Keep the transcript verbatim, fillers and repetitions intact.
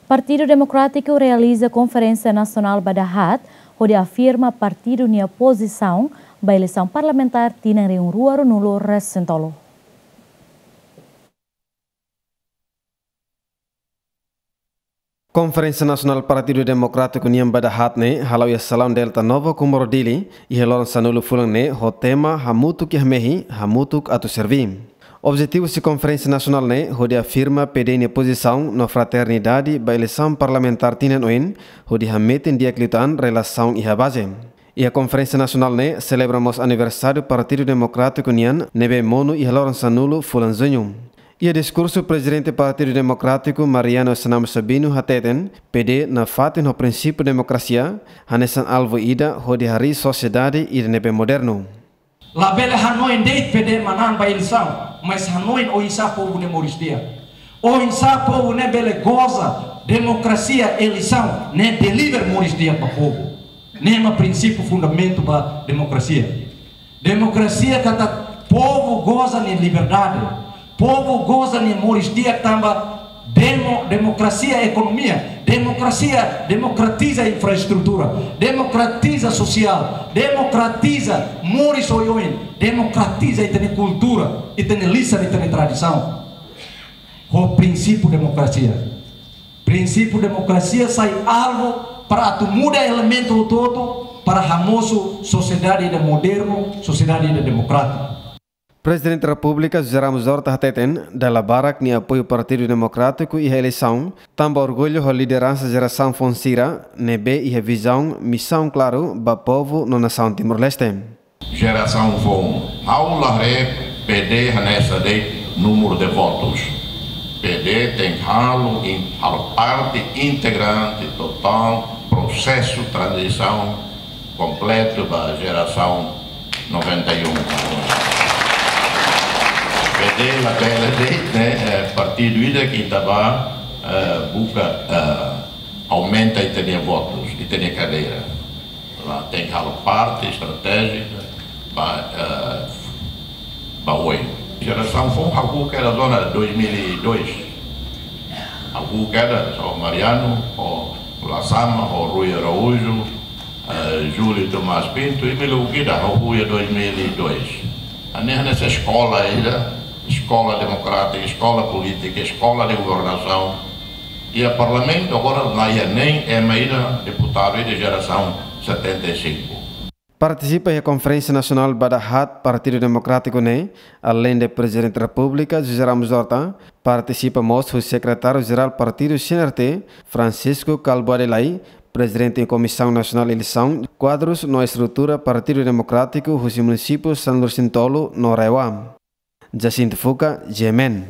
Partidu Demokrátiku realiza konferénsia nasionál ba dahaat, hodi afirma partidu nia pozisaun ba eleisaun parlamentár tinan rihun rua ruanulu resin tolu. Konferénsia Nasionál Partidu Demokrátiku nian ba dahaat ne'e hala'o iha salaun Delta Nova Comoro Dili, iha loron sanulu fulan ne'e ho tema Hamutuk iha mehi, hamutuk atu serví. Objetivu husi konferénsia nasionál ne'e hodi afirma P D nia pozisaun no fraternidade ba eleisaun parlamentár tinan oin, hodi hametin di'ak liután relasaun iha baze. Iha konferénsia nasionál ne'e selebra mós aniversáriu Partidu Demokrátiku nian ne'ebé monu iha loron sanulu fulan Juñu. Iha diskursu, Prezidente Partidu Demokrátiku Mariano Senamo Sabino hateten, P D nafatin ho prinsípiu demokrasia hanesan alvu ida hodi harii sosiedade ida ne'ebé modernu. Labele hanoin de'it P D manán ba eleisaun, mas hanoin oinsá povu ne'e moris di'ak. Oinsá povu ne'e bele goza demokrasia, eleisaun ne'e deliver moris di'ak ba povu. Ne'e mak prinsípiu fundamentu ba demokrasia. Demokrasia katak povu goza nia liberdade, povu goza nia moris di'ak tanba demo-, demokrasia ekonomia, demokrasia demokratiza infraestrutura, demokratiza sosiál, demokratiza moris oioin, demokratiza ita-nia kultura, ita-nia lisan, ita-nia tradisaun. Ho prinsípiu demokrasia. Prinsípiu demokrasia sai alvu para atu muda elementu hotu-hotu para hamosu sosiedade ida modernu, sosiedade ida demokrátiku. Prezidente Repúblika José Ramos Horta hateten, dala barak nia apoiu Partidu Demokrátiku iha eleisaun, tanba orgullu ho lideransa jerasaun foun sira ne'ebé iha vizaun, misaun klaru ba povu no nasaun Timor-Leste. Jerasaun foun, ha'u la haree P D hanesan de'it númeru de votus. P D tenke halo in-, halo parte integrante totál prosesu tranzisaun kompletu ba jerasaun noventa e um. P D labele de'it, ne'e, eh, partidu ida ke ita bá, eh, buka, eh, aumenta ita-nia votus, ita-nia kadeira. La, tenke halo parte estratéjika ba, eh, ba oin. Jerasaun foun ha'u kedas ona dois mil e dois. Ha'u kedas, ho Mariano, ho Lasama, ho Rui Araújo, eh, Júlio Tomás Pinto, i belun ida ha'u iha dois mil e dois. Hanesan, hanesan eskola ida, eskola demokrátika, eskola polítika, eskola de governasaun. Iha parlamentu agora la iha nein ema ida, deputadu ida jerasaun setenta e cinco. Partisipa iha konferénsia nasionál ba dahaat Partidu Demokrátiku ne'e, aleinde Prezidente Repúblika José Ramos Horta, partisipa mós husi Sekretáriu Jerál Partidu C N R T, Francisco Kalbuadi Lay, Prezidente Komisaun Nasionál Eleisaun, kuadrus no estrutura Partidu Demokrátiku husi munisípiu sanulu-resin-tolu no RAEOA. Jacinto Fuca, G M N.